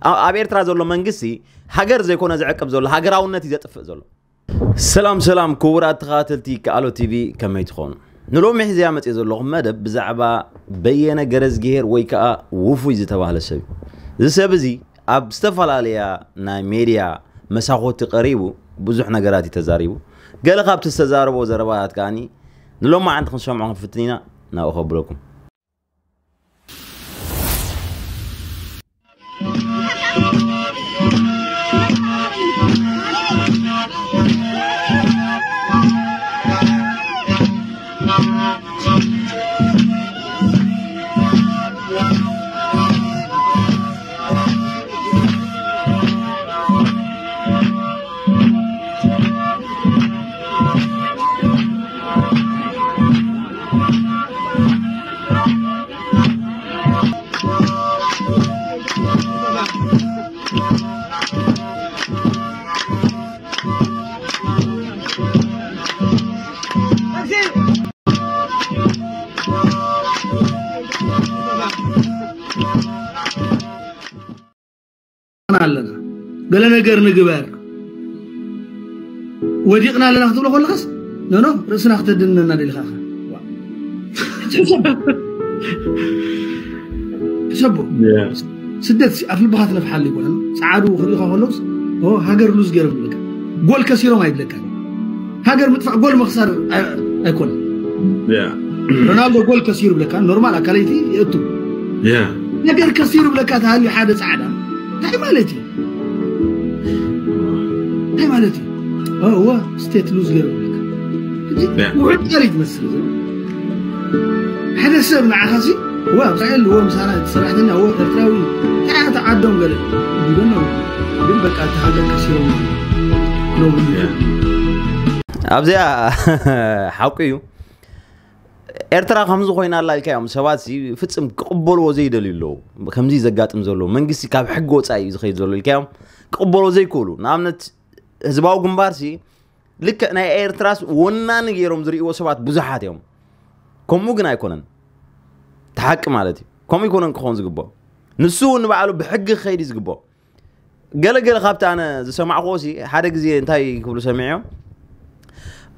ኣብ ኤርትራ ዘሎ መንግስቲ ሃገር ዘይኮነ ዝዕቅብ ዘሎ፣ ሃገራውነት እዩ ዘጥፍእ ዘሎ። ሰላም ሰላም ክቡራት ተኸታተልቲ ከኣሎ ቲቪ፣ ከመይ ትኾኑ? ንሎሚ ሒዘያ መፅእ ዘለኹ መደብ ብዛዕባ በየነ ገረዝግሄር ወይ ከዓ ውፉይ ዝተባህለ ሰብ እዩ። እዚ ሰብ እዚ ኣብ ዝተፈላለያ ናይ ሜድያ መሳኾቲ ቀሪቡ ብዙሕ ነገራት እዩ ተዛሪቡ። ገለ ካብቲ ዝተዛረቦ ዘረባታት ከዓኒ ንሎማዓንቲ ክንሰምዖ ክንፍትን ኢና። ናብኡ ከብለኩም። ኣለና፣ ገለ ነገር ንግበር፣ ወዲቕና ኣለና ክትብሎ ከለኻስ፣ ኖ፣ ኖ፣ ርእስና ክተድንነና ደሊኻ ኢኻ። ሕሰቦ። ሕሰቦ። ስደት ሲ-፣ ኣፍ ልብኻ ትነፍሓሉ ይኮነን። ጸዓዱ ክሪእኻ ከለውስ፣ ኦ፣ ሃገር ሉዝ ገይሮም ይብለካ። ጎል ከሲሮም ኣይብለካን። ሃገር ምጥፋእ ጎል ምኽሳር ኣይ-፣ ኣይኮነን። ሮናልዶ ጎል ከሲሩ ብለካ፣ ኖርማል ኣካለይቲ የእቱ። ነገር ከሲሩ ብለካ ተሃልዩ ሓደ ጻዕዳ፣ እንታይ ማለት እዩ? እንታይ ማለት እዩ? እ፣ እወ፣ ስቴት ሉዝ ገይሩ ብለካ። ሕጂ ውሑድ ቃል እዩ ትመስል። ሓደ ሰብ ንዓኻ ሲ፣ እወ፣ ኣብ እስራኤል፣ እወ፣ ምሳና ሰራሕተኛ፣ እወ፣ ኤርትራዊ፣ እንታይ እያ እታ ዓዶም ገለ ይብለና። ግን በቃ፣ እቲ ሃገር ከሲሮም ነው ብሎ። ኣብዚኣ ሓቁ እዩ። ኤርትራ ከምዚ ኮይና ኣላ ኢልካዮም ሰባት ሲ ፍጽም ክቕበልዎ ዘይደልዩ ኣለዉ። ከምዚ ዘጋጥም ዘሎ መንግስቲ ካብ ሕጊ ወጻኢ እዩ ዝኸይድ ዘሎ ኢልካዮም ክቕበልዎ ዘይክእሉ። ንኣብነት ህዝባዊ ግንባር ሲ ልክዕ ናይ ኤርትራስ ወናኒ ገይሮም ዝርእይዎ ሰባት ብዙሓት እዮም። ከምኡ ግን ኣይኮነን። እቲ ሓቂ ማለት እዩ። ከምኡ ኣይኮነን ክኸውን ዝግብኦ። ንሱ እውን ንባዕሉ ብሕጊ ክኸይድ እዩ ዝግብኦ። ገለ ገለ ካብቲ ኣነ ዝሰማዕክዎ ሲ ሓደ ግዜ እንታይ ክብሉ ሰሚዐዮም፣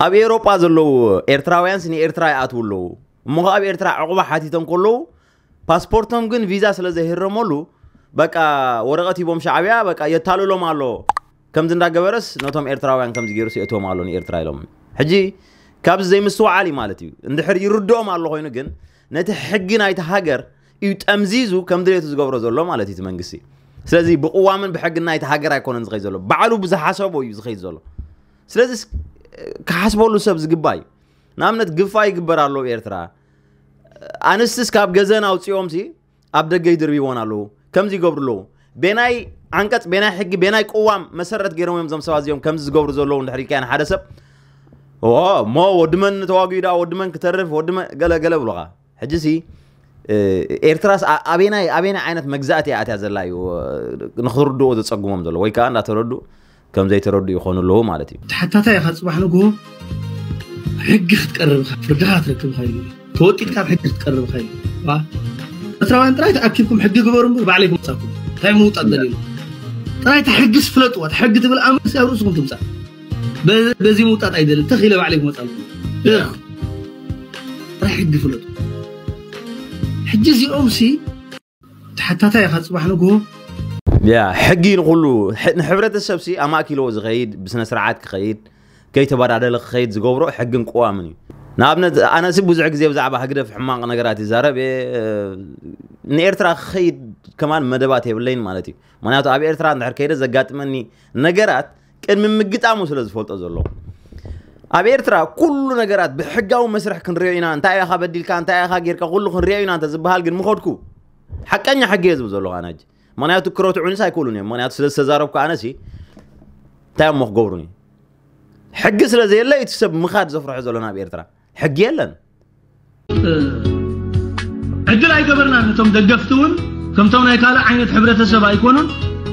ኣብ ኤውሮጳ ዘለዉ ኤርትራውያን ሲ ንኤርትራ ይኣትዉ ኣለዉ። እሞ ኸዓ ኣብ ኤርትራ ዕቑባ ሓቲቶም ከለዉ ፓስፖርቶም ግን ቪዛ ስለ ዘይህረመሉ በቃ ወረቐት ሂቦም ሻዕብያ በቃ የታልሎም ኣሎ። ከምዚ እንዳገበረስ ነቶም ኤርትራውያን ከምዚ ገይሩ ሲእቶም ኣሎ ንኤርትራ ኢሎም። ሕጂ ካብዚ ዘይምስትውዓል እዩ ማለት እዩ። እንድሕር ይርድኦም ኣሎ ኮይኑ ግን ነቲ ሕጊ ናይቲ ሃገር እዩ ጠምዚዙ ከም ድሌቱ ዝገብሮ ዘሎ ማለት እዩ እቲ መንግስቲ። ስለዚ ብቅዋምን ብሕግን ናይቲ ሃገር ኣይኮነን ዝኸይድ ዘሎ። ባዕሉ ብዝሓሰቦ እዩ ዝኸይድ ዘሎ። ስለዚ ስ-፣ ክሓስበሉ ሰብ ዝግባእ እዩ። ንኣብነት ግፋ ይግበር ኣሎ ኣብ ኤርትራ። ኣንስትስ ካብ ገዘን ኣውፅኦም ሲ ኣብ ደገ ይድርብይዎን ኣለዉ። ከምዚ ይገብሩ ኣለዉ። ቤናይ ዓንቀፅ፣ ቤናይ ሕጊ፣ ቤናይ ቅዋም መሰረት ገይሮም እዮም እዞም ሰባት እዚኦም ከምዚ ዝገብሩ ዘለዉ እንድሕር ኢልካዮ ንሓደ ሰብ፣ ኦ፣ እሞ ወዲ መን ተዋጊኡ ደኣ፣ ወዲ መን ክተርፍ፣ ወዲ መን ገለ ገለ ብሉኻ። ሕጂ ሲ፣ እ፣ ኤርትራስ ኣ-፣ ኣበናይ፣ ኣበናይ ዓይነት መግዛእቲ እያ ኣትያ ዘላ እዩ፣ እ፣ ንኽርድኦ ዘጸግሞም ዘሎ፣ ወይ ከኣ እንዳተረዱ ከም ዘይተረዱ ይኾኑ ኣለዉ ማለት እዩ። ተሓታታይ ኢኻ ጽባሕ ንግሆ ሕጊ ክትቀርብ ኢኻ፣ ፍርድኻ ክትረክብ ኢኻ ኢሉ። ተወጢጥካ ኣብ ሕጊ ክትቀርብ ኢኻ ኢሉ። ዋ፣ ኤርትራውያን ጥራይ ተኣኪብኩም ሕጊ ግበሩ እምበር ባዕለይኩም መጻኩም። እንታይ ምውጣጥ ደልዩ? ጥራይ እታ ሕጊስ ፍለጥዋ። እታ ሕጊ ትብል ኣምርሲ ኣብ ርእስኹም ትምጻእ። በ-፣ በዚ ምውጣጥ ኣይደልን። ተኺለ ባዕለይኩም መጻኩም። ያ። ጥራይ ሕጊ ፍለጡ። ሕጂ እዚኦም ሲ ተሓታታይ ኢኻ ጽባሕ ንግሆ። ያ፣ ሕጊ ንኹሉ፣ ሕ-፣ ንሕብረተሰብ ሲ ኣማእኪልዎ ዝኸይድ፣ ብስነ ስርዓት ክኸይድ፣ ከይተበዳደለ ክኸይድ ዝገብሮ ሕግን ቅዋምን እዩ። ንኣብነት፣ ኣነ ሲ ብዙሕ ግዜ ብዛዕባ ህግደፍ ሕማቕ ነገራት ይዛረብ እየ። ንኤርትራ ክኸይድ ከማን መደባት የብለይን ማለት እዩ። ምኽንያቱ ኣብ ኤርትራ እንድሕር ከይደ ዘጋጥመኒ ነገራት ቅድሚ ምግጣሙ ስለ ዝፈልጦ ዘሎ። ኣብ ኤርትራ ኩሉ ነገራት ብሕጋዊ መስርሕ ክንሪኦ ኢና፣ እንታይ ኢኻ በዲልካ፣ እንታይ ኢኻ ጌርካ፣ ኩሉ ክንሪኦ ኢና እንተ ዝበሃል ግን ምኸድኩ። ሓቀኛ ሕጊ እየ ዝብል ዘለኹ ኣነ ሕጂ። ምኽንያቱ ክረትዑኒስ ኣይክእሉን እዮም። ምኽንያቱ ስለ ዝተዛረብኩ ኣነሲ እንታይ እሞ ክገብሩኒ? ሕጊ ስለ ዘየለ እቲ ሰብ ምኻድ ዘፍርሖ ዘሎ ናብ ኤርትራ። ሕጊ የለን። ዕድል ኣይገበርናን። እቶም ደገፍቲ እውን ከምቶም ናይ ካልእ ዓይነት ሕብረተሰብ ኣይኮኑን።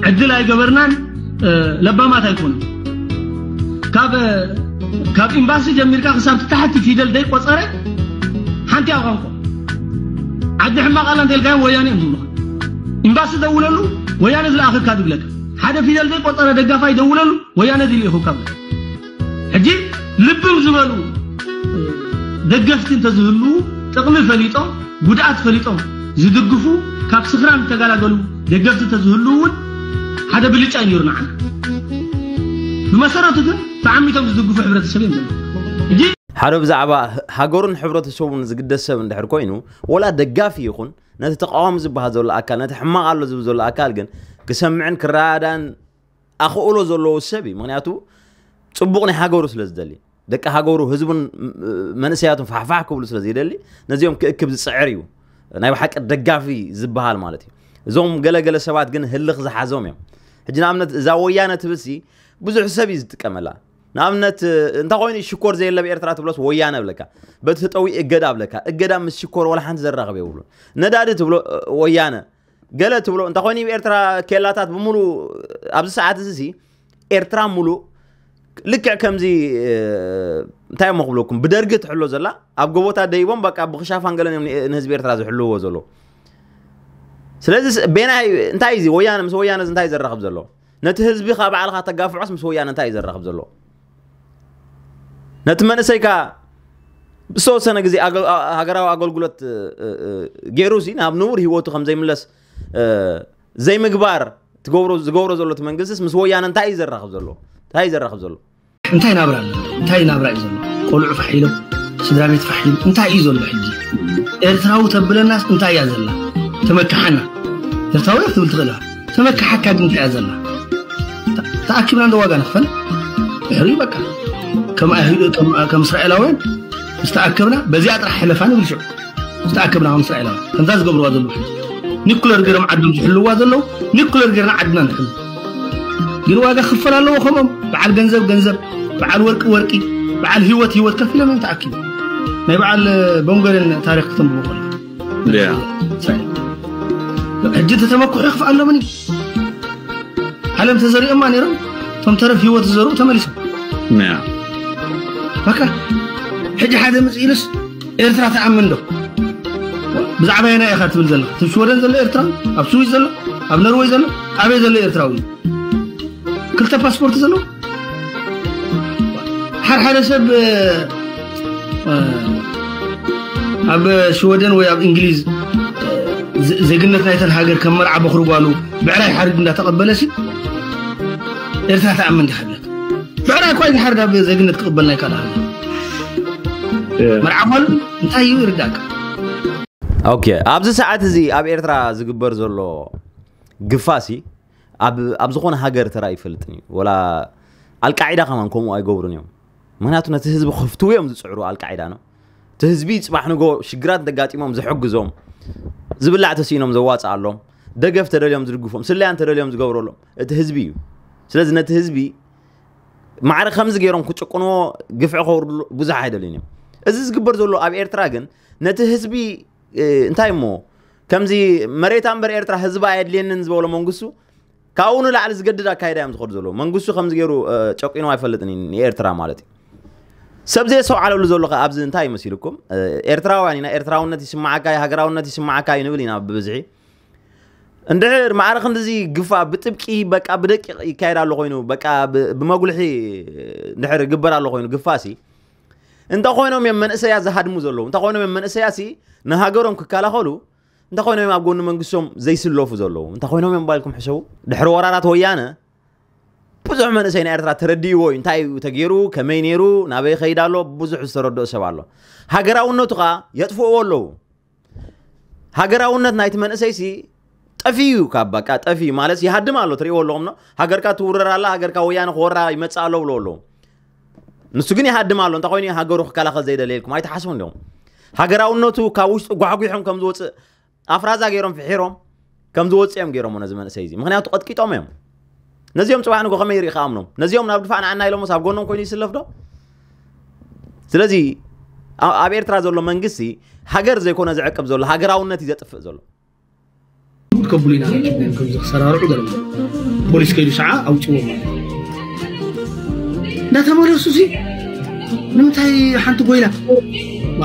ዕድል ኣይገበርናን። እ፣ ለባማት ኣይኮኑን። ካብ፣ ካብ ኤምባሲ ጀሚርካ ክሳብ ታሕቲ ፊደል ደይ ቆጸረ ሓንቲ ኣብ ቋንቋ ዓዲ ሕማቕ ኣላ እንተልካዮም ወያኔ እዮም ዝብሉኻ። ኤምባሲ ደውለሉ፣ ወያነ ዝለኣኸካ ድብለካ ሓደ ፊደል ዘይቆጸረ ደጋፋይ ደውለሉ። ወያነ ድልኢኹካ ብለካ። ሕጂ ልብም ዝበሉ ደገፍቲ እንተዝህልዉ ጥቕሚ ፈሊጦም ጉድኣት ፈሊጦም ዝድግፉ ካብ ስኽራን ዝተገላገሉ ደገፍቲ እንተዝህልዉ እውን ሓደ ብልጫ እዩ ነይሩ ንዓና። ብመሰረቱ ግን ተዓሚቶም ዝድግፉ ሕብረተሰብ እዮም ዘለዉ። ሕጂ ሓደ ብዛዕባ ሃገሩን ሕብረተሰቡን ዝግደስ ሰብ እንድሕር ኮይኑ ወላ ደጋፊ ይኹን ነቲ ተቃዋሚ ዝበሃል ዘሎ ኣካል ነቲ ሕማቕ ኣሎ ዝብል ዘሎ ኣካል ግን ክሰምዕን ክረዳዳን ኣኽእሎ ዘለዎ ሰብ እዩ። ምክንያቱ ፅቡቕ ናይ ሃገሩ ስለ ዝደሊ ደቂ ሃገሩ ህዝቡን መንእሰያቱን ፋሕፋሕ ክብሉ ስለ ዘይደሊ ነዚኦም ክእክብ ዝፅዕር እዩ ናይ ብሓቂ ደጋፊ ዝበሃል ማለት እዩ። እዞም ገለገለ ሰባት ግን ህልኽ ዝሓዞም እዮም። ሕጂ ንኣብነት እዛ ወያነ ትብልሲ ብዙሕ ሰብ እዩ ዝጥቀመላ። ንኣብነት እንታይ ኮይኑ ሽኮር ዘየለ ኣብ ኤርትራ ትብሎስ ወያነ ብለካ። በቲ ተጠዊ እገዳ ብለካ። እገዳ ምስ ሽኮር ወላ ሓንቲ ዘራኽብ የብሉን። ነዳዲ ትብሎ ወያነ ገለ ትብሎ እንታይ ኮይኑ ኣብ ኤርትራ ኬላታት ብምሉ ኣብዚ ሰዓት እዚ ሲ ኤርትራ ሙሉ ልክዕ ከምዚ እንታይ እሞ ክብለኩም ብደርጊ ትሕሎ ዘላ ኣብ ጎቦታት ደይቦም በቃ ብክሻፋን ገለን እዮም ንህዝቢ ኤርትራ ዝሕልዎ ዘሎ። ስለዚ ቤናይ እንታይ እዚ ወያነ ምስ ወያነ እንታይ ዘራኽብ ዘሎ? ነቲ ህዝቢ ካብ ባዕልኻ ተጋፍዖስ ምስ ወያነ እንታይ እዩ ዘራኽብ ዘሎ? ነቲ መንእሰይካ ዝተወሰነ ግዜ ሃገራዊ ኣገልግሎት ገይሩ ሲ ናብ ንቡር ህይወቱ ከም ዘይምለስ ዘይምግባር ዝገብሮ ዘሎ እቲ መንግስቲስ ምስ ወያነ እንታይ እዩ ዘራኽብ ዘሎ? እንታይ እዩ ዘራኽብ ዘሎ? እንታይ ናብራ ኣሎ? እንታይ ናብራ እዩ ዘሎ? ቆልዑ ፋሕ ኢሎም፣ ስድራ ቤት ፋሕ ኢሉ እንታይ እዩ ዘሎ ሕጂ? ኤርትራዊ ተብለናስ እንታይ እያ ዘላ? ተመክሓና። ኤርትራዊ እያ ክትብል ትኽእል ኢኻ። ተመክሓካ ግን እንታይ እያ ዘላ? ተኣኪብና እንደ ዋጋ ንኽፈል ድሕሪ በቃ ከም እስራኤላውያን ምስ ተኣከብና በዚኣ ጥራሕ ሕለፋ ንብል ሽዑ። ዝተኣከብና ከም እስራኤላውያን ከምዛ ዝገብርዋ ዘለዉ ሕጂ ኒኩለር ገይሮም ዓዶም ዝሕልዋ ዘለዉ ኒኩለር ገይርና ዓድና ንሕሉ ግን ዋጋ ክፈል ኣለዎ ከምኦም በዓል ገንዘብ ገንዘብ በዓል ወርቂ ወርቂ በዓል ህይወት ህይወት ከፊሎም እዮም ተኣኪቡ ናይ በዓል ቦንጎርን ታሪክ ክተንብቦ ከሎ ሕጂ ተተመኩሑ ይኽፍእ ኣሎምን እዩ ዓለም ተዘሪኦማ ነይሮም እቶም ተረፍ ህይወት ዝዘርኡ ተመሊሶም በቃ ሕጂ ሓደ ምፅ ኢሉስ ኤርትራ ተኣምን ዶ ብዛዕባ የና ኢኻ ትብል ዘለኻ እቲ ሽወደን ዘሎ ኤርትራ ኣብ ስዊስ ዘሎ ኣብ ነርወይ ዘሎ ኣበይ ዘሎ ኤርትራዊ ክልተ ፓስፖርት ዘለዎ ሓደ ሓደ ሰብ ኣብ ሽወደን ወይ ኣብ እንግሊዝ ዜግነት ናይተን ሃገር ከም መርዓ በኽሪ ጓሉ ብዕራይ ሓርድ እንዳተቐበለ ሲ ኤርትራ ተኣምን ዲኻ ብለካ ብዕራይ እኳ ዝሓርድ ኣብ ዜግነት ክቕበል ናይ ካልእ ሃገር መርዓ ጓሉ እንታይ እዩ ይርዳእካ ኦኬ ኣብዚ ሰዓት እዚ ኣብ ኤርትራ ዝግበር ዘሎ ግፋሲ ኣብ ዝኾነ ሃገር ተራእዩ ይፈልጥን እዩ ወላ ኣልቃዒዳ ከማን ከምኡ ኣይገብሩን እዮም ምክንያቱ ነቲ ህዝቢ ክፍትዉ እዮም ዝፅዕሩ ኣልቃዒዳ ነው እቲ ህዝቢ ፅባሕ ንጎ ሽግራት እንተጋጢሞም ዝሕግዞም ዝብላዕ ተሲኢኖም ዘዋፅኣሎም ደገፍ ተደልዮም ዝድግፎም ስለያ እንተደልዮም ዝገብረሎም እቲ ህዝቢ እዩ ስለዚ ነቲ ህዝቢ ማዕረ ከምዚ ገይሮም ክጭቁንዎ ግፍዒ ከውርድሉ ብዙሕ ኣይደልዩን እዮም እዚ ዝግበር ዘሎ ኣብ ኤርትራ ግን ነቲ ህዝቢ እንታይ እሞ ከምዚ መሬታ እምበር ኤርትራ ህዝባ ኣየድልየንን ዝበሎ መንግስቱ ካብኡ ንላዕሊ ዝገድድ ኣካይዳ እዮም ዝኸዱ ዘለዉ መንግስቱ ከምዚ ገይሩ ጨቂኑ ኣይፈልጥን ንኤርትራ ማለት እዩ ሰብ ዘየስተውዓለሉ ዘሎ ከ ኣብዚ እንታይ ይመሲልኩም ኤርትራውያን ኢና ኤርትራውነት ይስማዓካ ሃገራውነት ይስማዓካ እዩ ንብል ኢና ብብዝሒ እንድሕር ማዕረ ክንድዚ ግፋ ብጥብቂ በቃ ብደቂቕ ይካየድ ኣሎ ኮይኑ በቃ ብመጉልሒ እንድሕር ይግበር ኣሎ ኮይኑ ግፋሲ እንተ ኮይኖም እዮም መንእሰያ ዝሃድሙ ዘለዉ እንተ ኮይኖም እዮም መንእሰያሲ ንሃገሮም ክከላኸሉ እንተ ኮይኖም እዮም ኣብ ጎኒ መንግስቶም ዘይስለፉ ዘለዉ እንተ ኮይኖም እዮም ባልኩም ሕሰቡ ድሕሪ ወራራት ወያነ ብዙሕ መንእሰይ ናይ ኤርትራ ተረዲእዎ እዩ እንታይ እዩ ተገይሩ ከመይ ነይሩ ናበይ ከይድ ኣሎ ብዙሕ ዝተረድኦ ሰብ ኣሎ ሃገራውነቱ ከዓ የጥፍእዎ ኣለዉ ሃገራውነት ናይቲ መንእሰይሲ ጠፊዩ ካብ በቃ ጠፊዩ ማለት ይሃድም ኣሎ ትሪእዎ ኣለኹም ነው ሃገርካ ትውረር ኣላ ሃገርካ ወያነ ክወራ ይመፅእ ኣሎ ብሎ ኣለዉ ንሱ ግን ይሃድም ኣሎ እንታይ ኮይኑ ሃገሩ ክከላኸል ዘይደለየልኩም ኣይትሓስቡ እንዲኹም ሃገራውነቱ ካብ ውሽጡ ጓሕጒሖም ከም ዝወፅእ ኣፍራዛ ገይሮም ፍሒሮም ከም ዝወፅእ እዮም ገይሮም ነዚ መንእሰይ እዚ ምክንያቱ ቀጥቂጦም እዮም ነዚኦም ፅባሕ ንጎ ከመይ ይርኢ ከኣምኖም ነዚኦም ናብ ድፋዕ ንዓና ኢሎምስ ኣብ ጎኖም ኮይኑ ይስለፍ ዶ ስለዚ ኣብ ኤርትራ ዘሎ መንግስቲ ሃገር ዘይኮነ ዝዕቅብ ዘሎ ሃገራውነት እዩ ዘጥፍእ ዘሎ ከብሉ ኢና ከም ዝሰራርዑ ገለ ፖሊስ ከይዱ ሰዓ ኣውፅዎ እንዳተመለሱ ሲ ንምንታይ ሓንቲ ጎይላ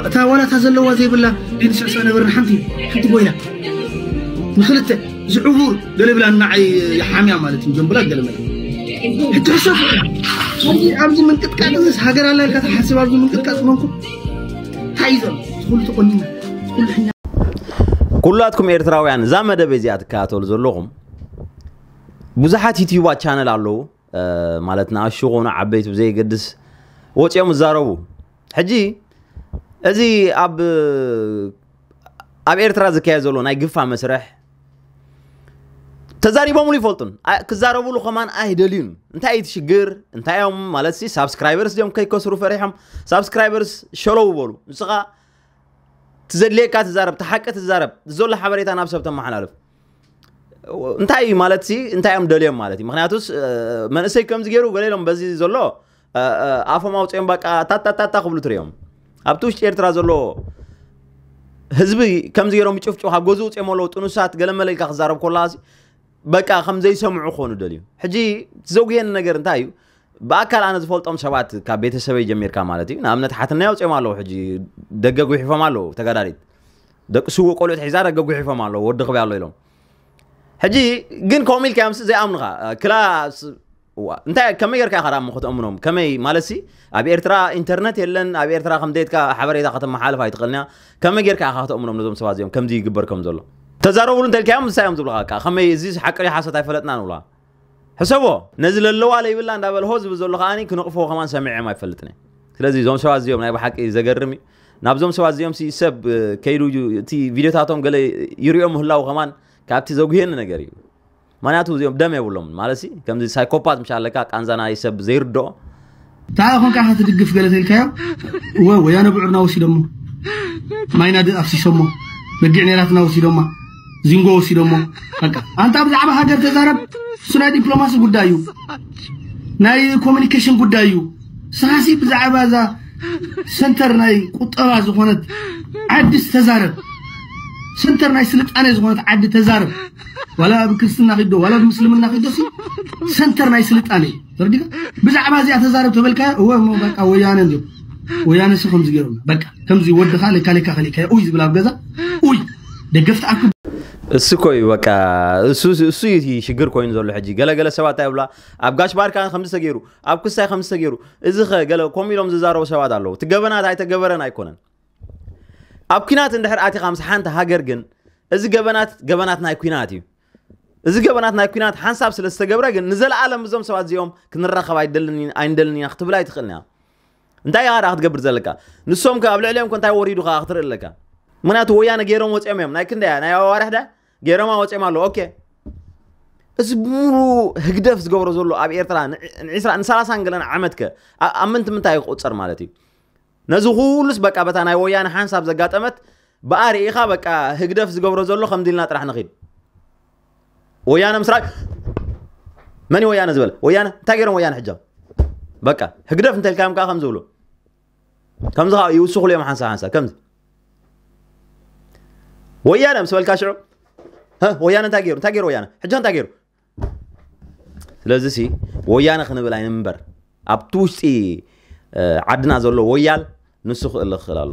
እታ ዋላታ ዘለዋ ዘይብላ ንስዕስዕ ነበርና ሓንቲ ሓንቲ ጎይላ ንክልተ ዝዕቡር ገለ ብላ ንዓይ ይሓምያ ማለት እዩ። ጀምብላ ገለ ማለት ሕጂ ሕሰብ። ኣብዚ ኣብዚ ምንቅጥቃጥ ምስ ሃገር ኣላ ኢልካ ትሓስብ? ኣብዚ ምንቅጥቃጥ መንኩ እንታይ እዩ ዘሎ? ኩሉ ተቆኒና ኩሉ ሕኛ ኩላትኩም ኤርትራውያን እዛ መደብ እዚኣ ትከታተሉ ዘለኹም ብዙሓት ዩቲዩባት ቻነል ኣለዉ። ማለት ንኣሽቱ ኾኑ ዓበይቲ ብዘይገድስ ወፂኦም ይዛረቡ። ሕጂ እዚ ኣብ ኣብ ኤርትራ ዝካየድ ዘሎ ናይ ግፋ መስርሕ ተዛሪቦምሉ ይፈልጡን። ክዛረብሉ ከማን ኣይደልዩን። እንታይ እዩ እቲ ሽግር? እንታይ እዮም ማለት ሲ ሳብስክራይበርስ ድዮም ከይከስሩ ፈሪሖም ሳብስክራይበርስ ሸለው በሉ። ንስኻ ትዘድልየካ ትዛረብ፣ ተሓቂ ትዛረብ፣ ዘሎ ሓበሬታ ናብ ሰብ ተመሓላልፍ። እንታይ እዩ ማለት ሲ እንታይ እዮም ደልዮም ማለት እዩ። ምክንያቱስ መንእሰይ ከምዚ ገይሩ ገለ ኢሎም በዚ ዘሎ ኣፎም ኣውፅኦም በቃ ታታታታ ክብሉ ትሪኦም። ኣብቲ ውሽጢ ኤርትራ ዘሎ ህዝቢ ከምዚ ገይሮም ይጭፍጭ ካብ ገዝኡ ውፅኦም ኣለዉ ጥኑሳት ገለመለ ኢልካ ክዛረብ ኮላ በቃ ከም ዘይሰምዑ ክኾኑ ደልዩ። ሕጂ ዘጉየኒ ነገር እንታይ እዩ? ብኣካል ኣነ ዝፈልጦም ሰባት ካብ ቤተሰበይ ጀሚርካ ማለት እዩ። ንኣብነት ሓትናይ ኣውፅኦም ኣለዉ። ሕጂ ደገ ጉሒፎም ኣለዉ። ተጋዳሊት ደቂ ስውእ ቆልዑት ሒዛ ደገ ጉሒፎም ኣለዉ። ወዲ ክበይ ኣሎ ኢሎም። ሕጂ ግን ከምኡ ኢልካ ምስ ዘይኣምኑኻ ክላ እንታይ ከመይ ጌርካ ኢኻ ደኣ እሞ ከተእምኖም? ከመይ ማለት ሲ ኣብ ኤርትራ ኢንተርነት የለን። ኣብ ኤርትራ ከም ደየትካ ሓበሬታ ከተመሓልፍ ኣይትኽእልንያ። ከመይ ጌርካ ኢኻ ከተእምኖም ነዞም ሰባት እዚኦም ከምዚ ይግበር ከም ዘሎ? ተዛረቡሉ እንተልካዮም እንታይ እዮም ዝብሉኻ? ከመይ እዚ ሓቂ ድዩ ሓሶት ኣይፈለጥናን ይብሉኻ። ሕሰቦ ነዚ ለለዋ ለይብላ እንዳበለ ሆ ዝብል ዘሎ ከዓኒ ክነቕፎ ከማን ሰሚዐም ኣይፈልጥን እየ። ስለዚ እዞም ሰባት እዚኦም ናይ ብሓቂ ዘገርም እዩ። ናብዞም ሰባት እዚኦም ሲ ሰብ ከይዱ እቲ ቪድዮታቶም ገለ ይሪኦ ምህላው ከማን ካብቲ ዘጉሄኒ ነገር እዩ። ምክንያቱ እዚኦም ደም የብሎም ማለት ሲ ከምዚ ሳይኮፓት ምሽ ኣለካ ቃንዛ ናይ ሰብ ዘይርድኦ እንታይ ኾንካ ኢኻ ትድግፍ ገለ ተልካዮ? ወ ወያነ ብዕርና ወሲዶሞ፣ ማይና ድ ኣፍሲሶሞ፣ በጊዕ ኔራትና ወሲዶማ፣ ዚንጎ ወሲዶሞ። በቃ ኣንታ ብዛዕባ ሃገር ተዛረብ። እሱ ናይ ዲፕሎማሲ ጉዳይ እዩ፣ ናይ ኮሚኒኬሽን ጉዳይ እዩ። ስኻሲ ብዛዕባ እዛ ሰንተር ናይ ቁጠባ ዝኾነት ዓድስ ተዛረብ። ሰንተር ናይ ስልጣኔ ዝኾነት ዓዲ ተዛረብ። ዋላ ኣብ ክርስትና ኺዶ ዋላ ኣብ ምስልምና ኺዶ ሲ ሰንተር ናይ ስልጣኔ እዩ። ተረዲካ? ብዛዕባ እዚኣ ተዛረብ ተበልካዮ እወ እሞ በቃ ወያነ እንዲዮም። ወያነ ሲ ከምዚ ገይሮም በቃ ከምዚ ወድኻ ለካ ለካ ከሊእካዮ ኡይ ዝብል ኣብ ገዛ ኡይ ደገፍቲ ኣክ እሱ እኮ እዩ በቃ እሱ እሱ እዩ እቲ ሽግር ኮይኑ ዘሎ። ሕጂ ገለገለ ሰባት እንታይ ይብላ ኣብ ጋሽ ባርካ ከምዚ ተገይሩ ኣብ ክስታይ ከምዚ ተገይሩ እዚ ኸ ገለ ከምኡ ኢሎም ዝዛረቡ ሰባት ኣለዉ። እቲ ገበናት ኣይተገበረን ኣይኮነን። ኣብ ኲናት እንድሕር ኣቲኻ ምስ ሓንቲ ሃገር ግን እዚ ገበናት ገበናት ናይ ኲናት እዩ። እዚ ገበናት ናይ ኲናት ሓንሳብ ስለ ዝተገብረ ግን ንዘለኣለም እዞም ሰባት እዚኦም ክንራኸብ ኣይደልን ኣይንደልን ኢና ክትብል ኣይትኽእልን እያ። እንታይ ኢኻ ደኣ ክትገብር ዘለካ? ንሶም ከ ኣብ ልዕሊኦም ከ እንታይ ወሪዱ ከ ክትርኢ ኣለካ? ምክንያቱ ወያነ ገይሮም ወፂኦም እዮም። ናይ ክንደያ ናይ ኣዋርሕ ዳ ገይሮማ ወፂኦም ኣለዉ። ኦኬ እዚ ብሙሉ ህግደፍ ዝገብሮ ዘሎ ኣብ ኤርትራ ንዒስራ ንሰላሳን ገለን ዓመት ከ ኣብ ምንቲ ምንታይ ክቁፀር ማለት እዩ? ነዚ ኩሉስ በቃ በታ ናይ ወያነ ሓንሳብ ዘጋጠመት ብኣ ርኢኻ በቃ ህግደፍ ዝገብሮ ዘሎ ከምዚ ኢልና ጥራሕ ንኺድ። ወያነ ምስራቅ መን እዩ ወያነ ዝበለ? ወያነ እንታይ ገይሮም ወያነ ሕጃ? በቃ ህግደፍ እንተልካዮም ከዓ ከም ዝብሉ ከምዚ ከዓ ይውስኹሉ እዮም ሓንሳብ ሓንሳብ ከምዚ ወያነ ምስ በልካ ሽዑ ወያነ እንታይ ገይሩ እንታይ ገይሩ ወያነ ሕጃ እንታይ ገይሩ ስለዚ ሲ ወያነ ክንብል ኣይንንበር ኣብቲ ውሽጢ ዓድና ዘሎ ወያል ንሱ ክእል ክእል ኣሎ